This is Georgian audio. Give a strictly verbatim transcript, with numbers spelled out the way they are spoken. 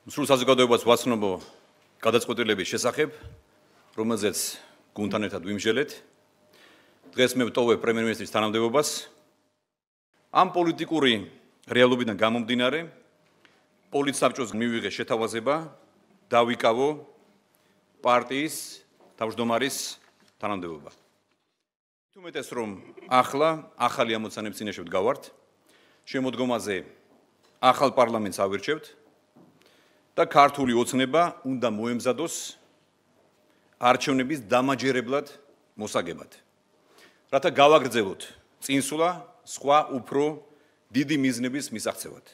სრულ საზოგადოებას ვაცნობ გადაწყვეტილების შესახებ, რომელზეც გუნდთან ერთად ვიმსჯელეთ. დღეს მე ვტოვებ პრემიერ-მინისტრის თანამდებობას. ამ პოლიტიკური რეალობიდან გამომდინარე, პოლიტსაბჭოს მივიღე შეთავაზება დავიკავო პარტიის თავმჯდომარის თანამდებობა. თუმეტეს რომ ახლა ახალი ამოცანების წინაშე ვდგავართ, შემოდგომაზე ახალ პარლამენტს ავირჩევთ და ქართული ოცნება უნდა მოემზადოს არჩევნების დამაჯერებლად მოსაგებად. რათა გავაგრძელოთ წინსვლა სხვა უფრო დიდი მიზნების მისაღწევად.